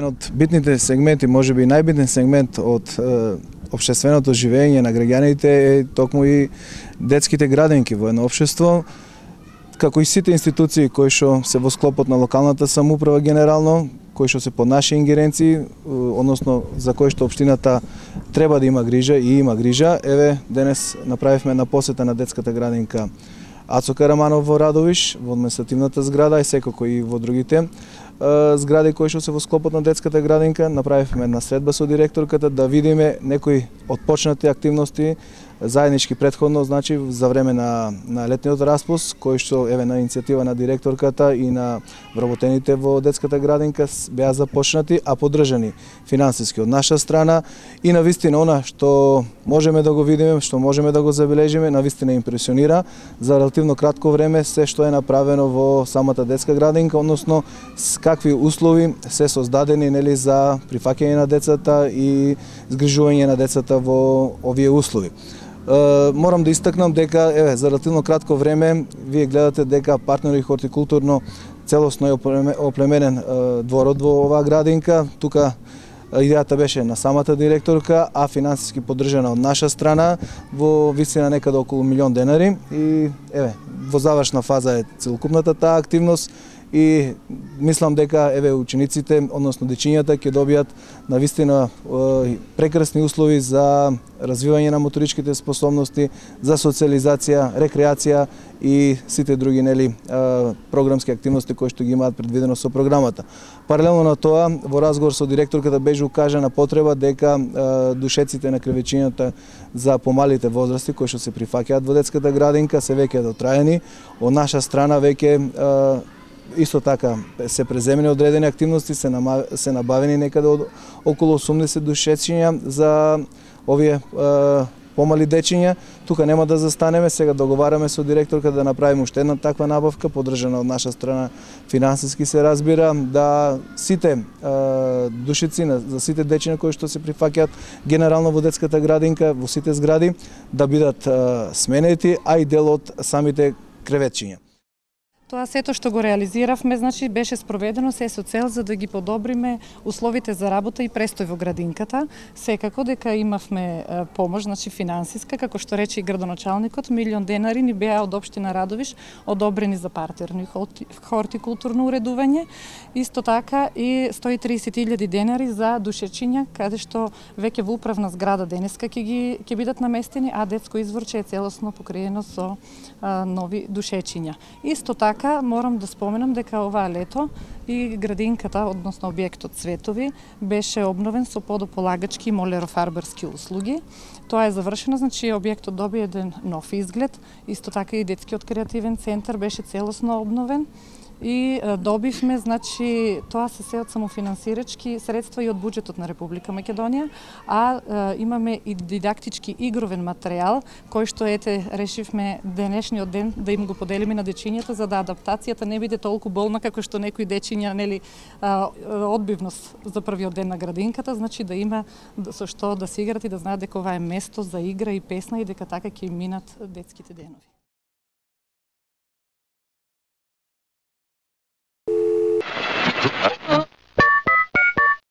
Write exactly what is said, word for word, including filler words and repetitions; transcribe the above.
еден од битните сегменти, можеби најбитен сегмент од е, општественото живење на граѓаните е токму и детските градинки во едно општество, како и сите институции кои што се во склопот на локалната самоуправа генерално, кои што се под наши ингеренции, односно за кои што општината треба да има грижа и има грижа. Еве, денес направивме една посета на детската градинка Ацо Караманов во Радовиш, во административната зграда и секако и во другите згради кои што се во склопот на детската градинка. Направивме една средба со директорката да видиме некои отпочнати активности заеднички претходно, значи за време на на летниот распуст, кој што еве на иницијатива на директорката и на вработените во детската градинка беа започнати, а поддржани финансиски од наша страна и навистина она што можеме да го видиме, што можеме да го забележиме, навистина импресионира за релативно кратко време се што е направено во самата детска градинка, односно какви услови се создадени нели за прифаќање на децата и згрижување на децата во овие услови. Морам да истакнам дека еве за релативно кратко време вие гледате дека партнери хортикултурно целосно е оплеменен дворот во оваа градинка. Тука идејата беше на самата директорка, а финансиски поддржана од наша страна во висина некаде околу милион денари и еве во завршна фаза е целокупната таа активност. И мислам дека еве учениците, односно дечињата ќе добијат навистина прекрасни услови за развивање на моторичките способности, за социјализација, рекреација и сите други нели програмски активности кои што ги имаат предвидено со програмата. Паралелно на тоа, во разговор со директорката беше укажана потреба дека душеците на кревечињата за помалите возрасти кои што се прифаќаат во детската градинка се веќе дотраени. Од наша страна веќе исто така се преземени одредени активности, се, нама, се набавени некаде од околу осумдесет душечиња за овие е, помали дечиња. Тука нема да застанеме, сега договараме со директорка да направиме уште една таква набавка, поддржана од наша страна финансиски се разбира, да сите е, душици, за сите дечиња кои што се прифаќаат генерално во детската градинка, во сите згради, да бидат е, сменети, а и дел од самите креветчиња. Тоа сето што го реализиравме, значи беше спроведено се со цел за да ги подобриме условите за работа и престој во градинката. Секако дека имавме помош, значи финансиска, како што рече и градоначалникот, милион денари ни беа од општина Радовиш одобрени за партерно и хортикултурно уредување. Исто така и сто и тридесет илјади денари за душечиња, каде што веќе во управна зграда денеска ќе ги ќе бидат наместени, а детско изворче е целосно покриено со а, нови душечиња. Исто така морам да споменам дека оваа лето и градинката, односно објектот Цветови, беше обновен со подополагачки и молерофарбарски услуги. Тоа е завршено, значи објектот доби еден нов изглед, исто така и детскиот креативен центар беше целосно обновен. И добивме, значи, тоа се се од самофинансирачки средства и од буџетот на Република Македонија, а е, имаме и дидактички игровен материјал, кој што ете решивме денешниот ден да им го поделиме на дечињата за да адаптацијата не биде толку болна како што некои дечиња нели одбивност за првиот ден на градинката, значи да има со што да се играт и да знаат дека ова е место за игра и песна и дека така ќе им минат детските денови. Uh